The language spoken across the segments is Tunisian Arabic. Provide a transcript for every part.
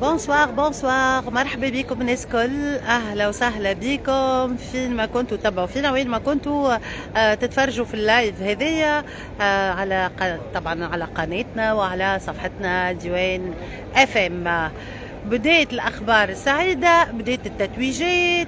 Bonsoir bonsoir، مرحبا بكم الناس الكل، اهلا وسهلا بكم فين ما كنتوا تبعوا فينا، وين ما كنتوا تتفرجوا في ال live هذايا على طبعا على قناتنا وعلى صفحتنا ديوان FM. بداية الاخبار السعيده، بداية التتويجات،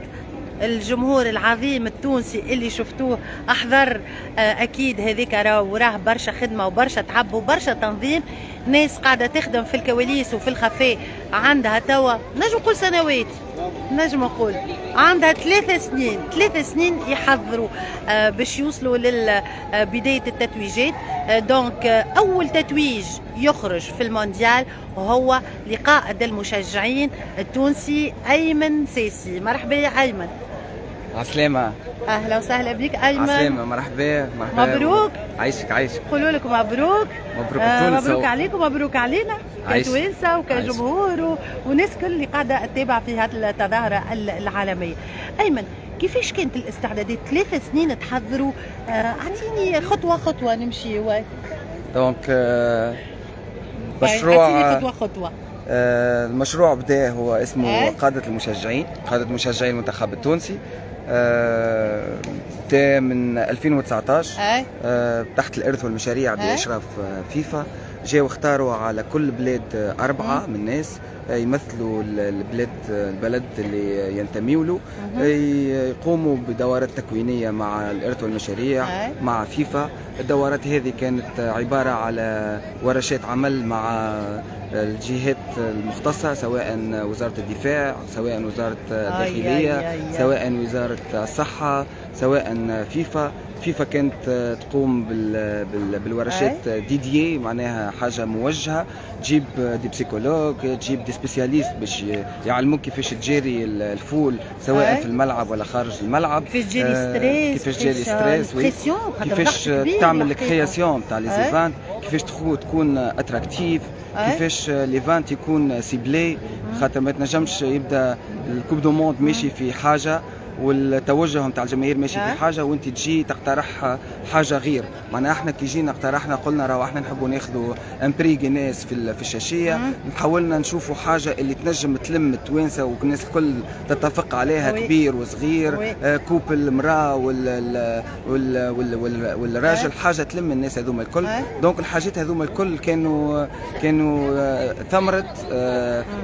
الجمهور العظيم التونسي اللي شفتوه احضر، اكيد هذيك راه وراه برشا خدمة وبرشا تعب وبرشا تنظيم. ناس قاعدة تخدم في الكواليس وفي الخفاء، عندها توا نجم نقول سنوات، نجم نقول عندها 3 سنين، 3 سنين يحضروا باش يوصلوا لبداية التتويجات. donc اول تتويج يخرج في المونديال وهو لقائد المشجعين التونسي ايمن ساسي. مرحبا يا ايمن. عسلامة. اهلا وسهلا بك ايمن. عسلامة، مرحبا مرحبا. مبروك. عايشك عايشك. قولوا لكم مبروك. مبروك تونس. مبروك عليكم، مبروك علينا كتوانسه وكجمهور وناس كل اللي قاعدة تتابع في هذه التظاهرة العالميه. ايمن، كيفاش كانت الاستعدادات؟ 3 سنين تحضروا، اعطيني خطوة خطوة نمشي. donc مشروع اعطيني خطوة خطوه. المشروع بدا، هو اسمه قادة المشجعين، قادة مشجعي المنتخب التونسي. بدا من 2019 تحت الإرث والمشاريع بإشراف فيفا. جاوا اختاروا على كل بلاد أربعة من الناس يمثلوا البلاد، البلد اللي ينتميوا له، يقوموا بدورات تكوينية مع الإرث والمشاريع مع فيفا. الدورات هذه كانت عبارة على ورشات عمل مع الجهات المختصة، سواء وزارة الدفاع، سواء وزارة الداخلية، سواء وزارة الصحة، سواء فيفا. فيفا كانت تقوم بالورشات dédiées، معناها حاجة موجهه، تجيب des psychologues، تجيب des spécialistes باش يعلموك كيفاش تجاري ال foule، سواء في الملعب ولا خارج الملعب. كيفاش تجاري stress. كيفاش تجاري stress، pression. كيفاش تعمل ال création تاع les events، كيفاش تكون attractif، كيفاش l'event يكون ciblé، خاطر ما تنجمش يبدا ال coupe du monde ماشي في حاجة والتوجه نتاع الجماهير ماشي في حاجة وانت تجي تقترح حاجة غير. معناها احنا كي جينا اقترحنا، قلنا راهو احنا نحبوا ناخذوا un prix Guinness في الشاشيه، حاولنا نشوفوا حاجة اللي تنجم تلم التوانسة والناس الكل تتفق عليها، كبير وصغير، couple، المراة والراجل، حاجة تلم الناس هذوما الكل. donc الحاجات هذوما الكل كانوا ثمره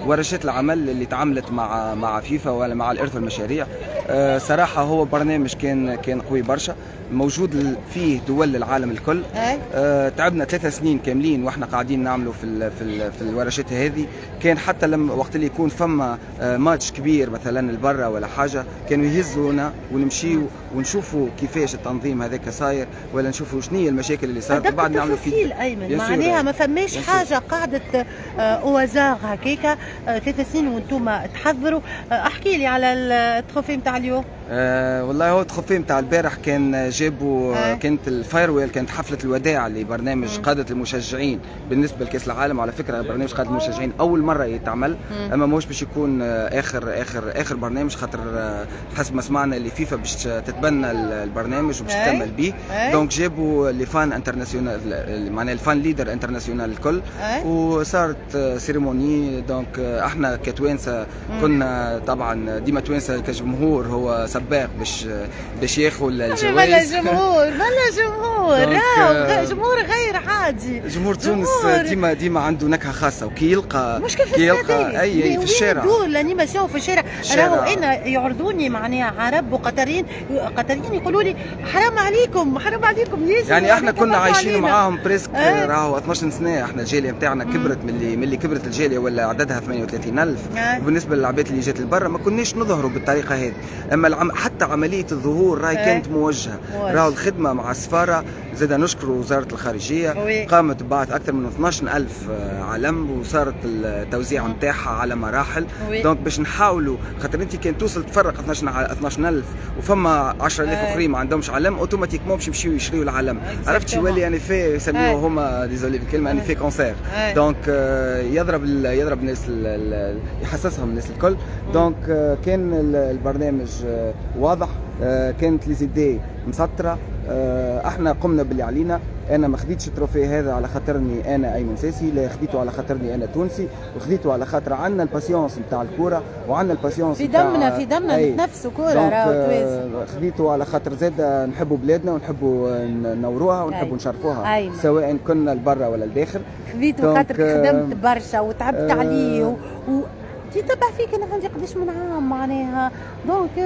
ورشات العمل اللي تعملت مع فيفا ولا مع الارث والمشاريع. صراحة هو برنامج كان قوي برشا، موجود فيه دول العالم الكل. تعبنا 3 سنين كاملين واحنا قاعدين نعملوا في الورشات هذه. كان حتى لما وقت اللي يكون فما ماتش كبير مثلا البرة ولا حاجه، كانوا يهزونا ونمشيو ونشوفوا كيفاش التنظيم هذاك صاير ولا نشوفوا شنو هي المشاكل اللي صارت. وبعد نعملوا في ايمن، معناها ما فماش حاجة قاعدة au hasard هكاكا. 3 سنين وانتم تحضروا. احكي لي على ال trophée نتاع اليوم. والله هو ال trophée نتاع البارح كان جابوا كانت ال farewell، كانت حفلة الوداع لبرنامج قاده المشجعين بالنسبة لكاس العالم. على فكره، برنامج قاده المشجعين اول مرة يتعمل، اما ماهوش باش يكون اخر اخر اخر برنامج، خاطر حسب ما سمعنا اللي فيفا باش تتبنى البرنامج وباش تكمل به. donc جابوا les fans internationaux، معناها ال fan leaders internationaux الكل، وصارت cérémonie. donc احنا كتوانسه كنا طبعا ديما توانسة كجمهور هو سباق باش ياخذ الجوائز. ملا جمهور، ملا جمهور، راهو جمهور غير عادي. جمهور تونس ديما ديما عنده نكهة خاصه، وكي يلقى مش كيف كي يلقى اي في الشارع. دور l'animation في الشارع، راهو انا يعرضوني معناها عرب وقطريين، قطريين يقولوا لي حرام عليكم، حرام عليكم ياسر. يعني احنا كنا عايشين معاهم presque راهو 12 سنه. احنا الجالية نتاعنا كبرت، من اللي كبرت الجالية ولا عددها 38000. وبالنسبة للعباد اللي جات لبرا ما كناش نظهروا بالطريقة هذه، اما حتى عملية الظهور راهي كانت موجهه. راهو الخدمة مع السفاره، زاد نشكر وزارة الخارجيه، قامت ببعث اكثر من 12000 علم، وصارت التوزيع نتاعها على مراحل. donc باش نحاولوا، خاطر انت كان توصل تفرق 12 12000 وفما 10000 اخرين ما عندهمش علم، automatiquement باش يمشيو يشريوا العلم، عرفت؟ يولي un effet يسميوه هما، désolé بالكلمه، un effet cancer. donc يضرب الناس، يحسسهم الناس الكل. donc كان البرنامج واضح، كانت les idées مسطره، احنا قمنا باللي علينا. انا ما خديتش ال trophée هذا على خاطرني انا ايمن ساسي، لا، خديته على خاطرني انا تونسي، وخديته على خاطر عندنا ال passion نتاع الكورة وعندنا ال passion في دمنا، في دمنا نتنفسوا كورة راهو توانسة. خديته على خاطر زاد نحبوا بلادنا ونحبوا نوروها ونحبوا نشرفوها سواء كنا لبرا ولا لداخل. خذيته خاطر خدمت برشا وتعبت عليه تتبع فيك انا عندي قداش من عام معناها، donc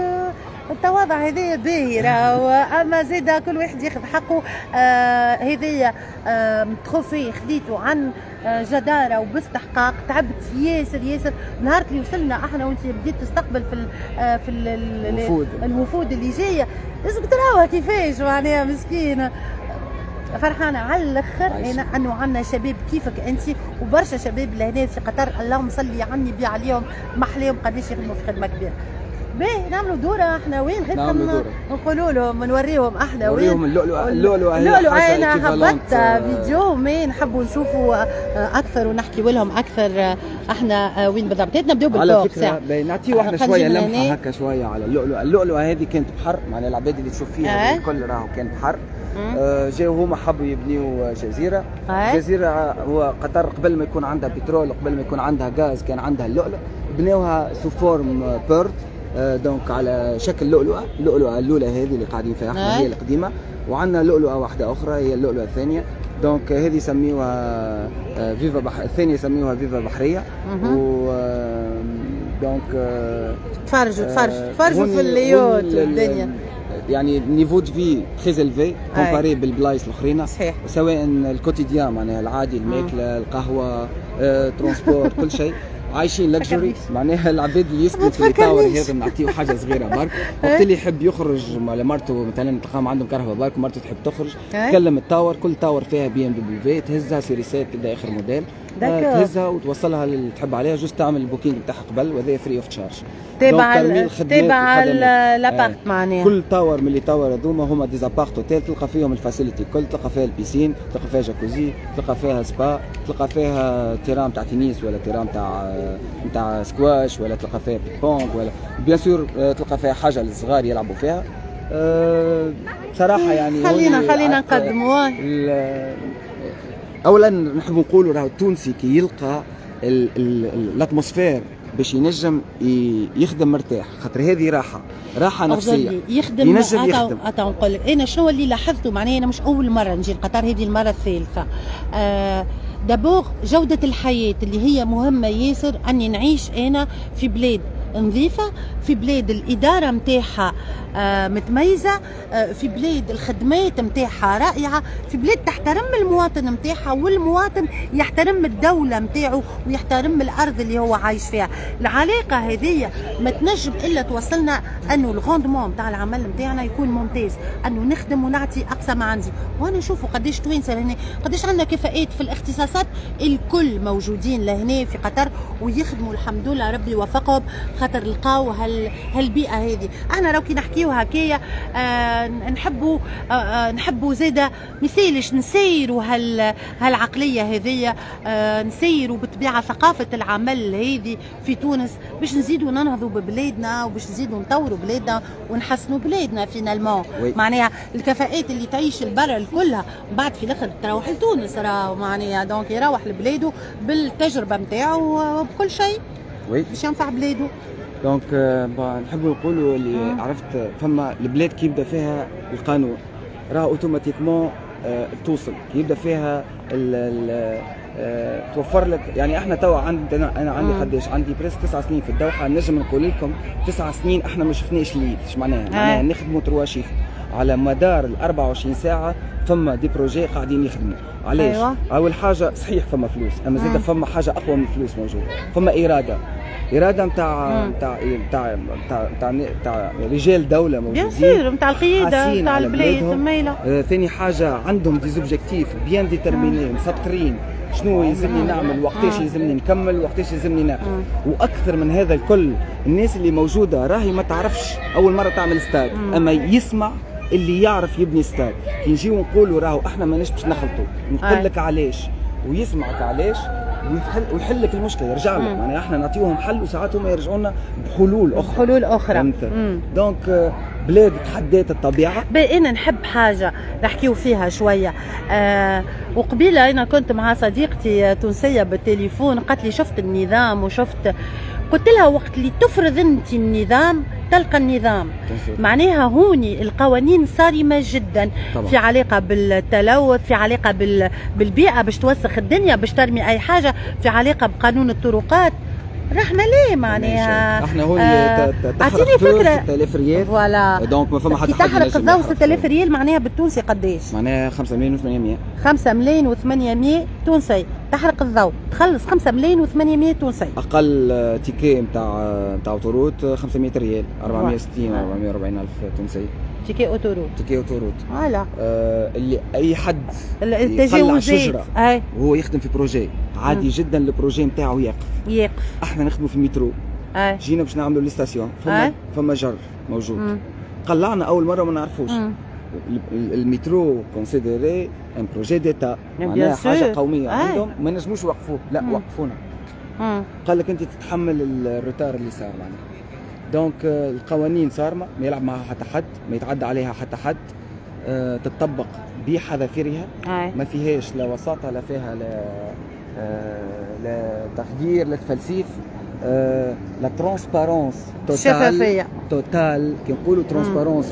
التواضع هذايا باهي راهو، اما زاد كل واحد ياخذ حقه. هذايا trophée خذيته عن جداره وباستحقاق، تعبت ياسر ياسر. نهار اللي وصلنا احنا وانت بديت تستقبل في الوفود اللي جاية، لازم تراوها كيفاش معناها مسكينه. فرحانة على الاخر انا انه عندنا شباب كيفك انت وبرشا شباب لهنا في قطر، اللهم صلي على النبي عليهم، محليهم قداش يخدموا في خدمة كبيرة. باهي نعملوا دوره احنا وين غير نقولوا لهم نوريهم احنا وين، نوريهم اللؤلؤه. اللؤلؤه انا هبطت فيديو mais نحبوا نشوفوا اكثر ونحكيوا لهم اكثر احنا وين بالضبط. نبداو بال port. على فكرة نعطي واحدة شوية لمحه هكا شوية على اللؤلؤه. اللؤلؤه هذه كانت بحر، معناها العباد اللي تشوف فيها الكل راهو كان بحر. جاو هما حبوا يبنيو جزيرة. جزيرة هو قطر قبل ما يكون عندها بترول، قبل ما يكون عندها غاز، كان عندها اللؤلؤ. بناوها sous forme perle، donc على شكل لؤلؤه. اللؤلؤه الاولى هذه اللي قاعدين فيها احنا هي القديمة، وعندنا لؤلؤه واحدة اخرى هي اللؤلؤه الثانية. donc هذه يسميوها فيفا الثانية يسميوها فيفا بحرية. و donc تفرجوا تفرجوا تفرجوا في ال yacht والدنيا، يعني niveau de vie très élevé comparé بالبلايص الاخرين. صحيح، سواء ال quotidien معناها العادي، الماكلة، القهوة، transport، كل شيء عايشين luxury. معناها العباد اللي يسكنوا في ال tower هذا نعطيه حاجة صغيرة برك، وقت اللي يحب يخرج مع مرته مثلا تلقاهم عندهم كرهبه برك ومرته تحب تخرج، تكلم ال tower، كل tower فيها BMW تهزها série 7 تبدا اخر موديل، تهزها وتوصلها للي تحب عليها، juste تعمل ال booking نتاعها قبل، وهذا free of charge. تابع l'appart معناها. كل tower من les towers هذوما هما des appart-hôtels، تلقى فيهم ال facilités كل، تلقى فيها ال piscine، تلقى فيها جاكوزي، تلقى فيها سبا، تلقى فيها terrain تاع تنس ولا terrain تاع سكواش، ولا تلقى فيها ping-pong، ولا bien sûr تلقى فيها حاجة للصغار يلعبوا فيها. بصراحة يعني خلينا نقدموا. اولا نحب نقولوا راهو التونسي كي يلقى l'atmosphère باش ينجم يخدم مرتاح، خاطر هذه راحة نفسية يخدم، ينجم يخدم. نقول لك انا شنو اللي لاحظته، معناها انا مش اول مرة نجي لقطر، هذه المرة الثالثة. d'abord جوده الحياة اللي هي مهمة ياسر، اني نعيش انا في بلاد نظيفة، في بلاد الادارة نتاعها متميزة، في بلاد الخدمات نتاعها رائعة، في بلاد تحترم المواطن نتاعها والمواطن يحترم الدولة نتاعو ويحترم الارض اللي هو عايش فيها. العلاقة هذه ما تنجم الا توصلنا انه ال rendement نتاع العمل نتاعنا يكون ممتاز، انه نخدم ونعطي اقصى ما عندي. وانا نشوفوا قداش توانسة لهنا، قداش عندنا كفاءات في الاختصاصات الكل موجودين لهنا في قطر ويخدموا الحمد لله، ربي يوفقهم خاطر لقاو هالبيئه هذه. احنا راهو كي نحكيو هكايا نحبوا نحبوا زاده مثالش نسيروا هالعقليه هذيا، نسيروا بالطبيعة ثقافة العمل هذه في تونس باش نزيدوا ننهضوا ببلادنا وباش نزيدوا نطوروا بلادنا ونحسنوا بلادنا finalement. معناها الكفاءات اللي تعيش البر كلها بعد في الاخر تروح لتونس، راهو معناها donc يروح لبلاده بالتجربة نتاعو وبكل شيء باش ينفع بلاده. donc نحبوا نقولوا اللي عرفت فما البلاد كي يبدا فيها القانون راه automatiquement توصل، كي يبدا فيها توفر لك. يعني احنا توا عندنا، انا عندي قداش عندي presque 9 سنين في الدوحة، نجم نقول لكم 9 سنين احنا ما شفناش الليل. ايش معناها؟ معناها نخدموا 3 shifts على مدار ال 24 ساعة، فما des projets قاعدين يخدموا. علاش؟ أيوة. اول حاجة صحيح فما فلوس، اما زاد فما حاجة اقوى من الفلوس موجودة، فما اراده نتاع نتاع نتاع نتاع نتاع رجال دولة موجودين، bien sûr نتاع القيادة نتاع البلاد مايلة. ثاني حاجة عندهم des objectifs bien déterminés، مسطرين شنو يلزمني نعمل، وقتاش يلزمني نكمل، وقتاش يلزمني ناقف. واكثر من هذا الكل الناس اللي موجودة راهي ما تعرفش اول مرة تعمل ستاد، اما يسمع اللي يعرف يبني ستاد. كي نجيو نقولوا راهو احنا ماناش باش نخلطوا، نقول لك علاش ويسمعك علاش ويحل لك المشكلة، يرجع لك. معناها احنا نعطيوهم حل وساعات هم يرجعوا لنا بحلول اخرى، حلول اخرى. donc بلاد تحدات الطبيعة. انا نحب حاجة نحكيو فيها شوية. وقبيله انا كنت مع صديقتي تونسية بالتليفون، قالت لي شفت النظام وشفت، قلت لها وقت اللي تفرض انت النظام تلقى النظام. معناها هوني القوانين صارمة جدا طبعا. في علاقة بالتلوث، في علاقة بالبيئة باش توسخ الدنيا، باش ترمي اي حاجة، في علاقة بقانون الطرقات. رحنا ليه معناها احنا هوني تحرق فكرة 6000 ريال voilà. donc ما فما حتى حد تحرق الضوء 6000 ريال معناها بالتونسي قداش؟ معناها 5 ملايين و800. 5 ملايين و800 تونسي تحرق الضوء، تخلص 5 ملايين و800 تونسي. اقل ticket نتاع autoroute 500 ريال، 460 440 الف تونسي. ticket autoroute. ticket autoroute voilà. اللي اي حد التجاوزات شجرة وهو يخدم في projet عادي جدا ال projet نتاعو يقف. احنا نخدموا في المترو، جينا باش نعملوا les stations، فما جر موجود. قلعنا اول مرة ما نعرفوش. المترو considéré un projet d'État، معناها حاجة قومية عندهم، ما نجموش يوقفوه، لا وقفونا. قال لك انت تتحمل ال retard اللي صار معناها. donc القوانين صارمة، ما يلعب معها حتى حد، ما يتعدى عليها حتى حد، تطبق بحذافيرها، ما فيهاش لا وساطة لا فيها لا تغيير لا تفلسيف، la transparence totale. شفافية totale. كي نقولوا transparence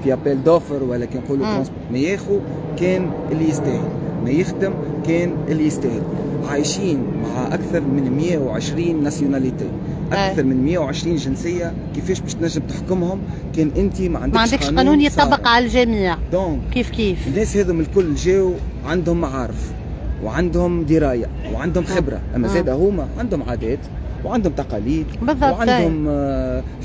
في appel d'offres ولا كي نقولوا ما ياخو كان اللي يستاهل، ما يخدم كان اللي يستاهل. عايشين مع اكثر من 120 nationalités، اكثر من 120 جنسية، كيفاش باش تنجم تحكمهم كان انت ما عندكش قانون يطبق على الجميع؟ donc كيف كيف الناس هذم الكل جاو عندهم معارف وعندهم دراية وعندهم خبره، اما زاد هما عندهم عادات وعندهم تقاليد بالضبط، وعندهم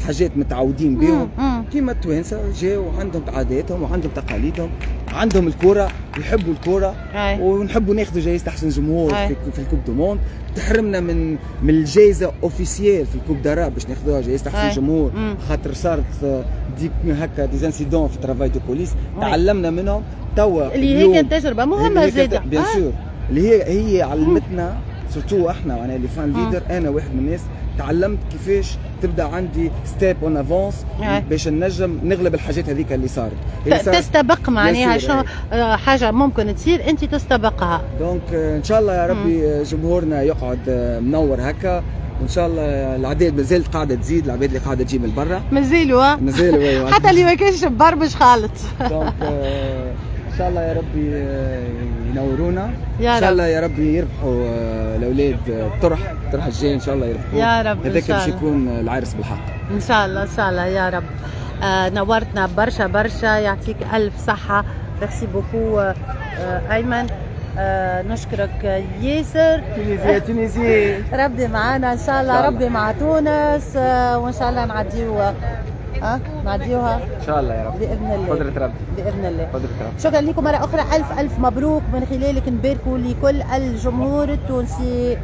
حاجات متعودين بهم. كيما التوانسة جاو عندهم عاداتهم وعندهم تقاليدهم، عندهم الكره، يحبوا الكره، ونحبوا ناخذوا جائزة احسن جمهور في ال coupe du monde. تحرمنا من الجائزة officielle في ال coupe d'Arabe باش ناخذوها جائزة احسن جمهور، خاطر صارت des هكا des incidents في travail de police، تعلمنا منهم. توا اللي هي كانت تجربه مهمة زاده bien sûr، اللي هي علمتنا surtout احنا معناها les fan leaders. انا واحد من الناس تعلمت كيفاش تبدا عندي step en avance باش نجم نغلب الحاجات هذيك اللي صارت. تستبق معناها شنو حاجة ممكن تصير انت تستبقها. donc ان شاء الله يا ربي جمهورنا يقعد منور هكا، وان شاء الله العداد مازالت قاعدة تزيد، العباد اللي قاعدة تجي من برا مازالوا حتى اللي ما كانش مبرمج خالط. donc ان شاء الله يا ربي ينورونا، ان شاء الله يا ربي يربحوا الاولاد الطرح الجاي ان شاء الله يربحوا يا رب. هذاك باش يكون العرس بالحق ان شاء الله. ان شاء الله يا رب. نورتنا برشا برشا، يعطيك الف صحة. merci beaucoup ايمن، نشكرك ياسر. Tunisie Tunisie ربي معانا ان شاء الله، ربي مع تونس، وان شاء الله نعديو نعديوها ان شاء الله يا رب باذن الله، قدرة ربي باذن الله، قدرة ربي. شكرا لكم مرة اخرى، الف الف مبروك. من خلالك نباركوا لكل الجمهور التونسي.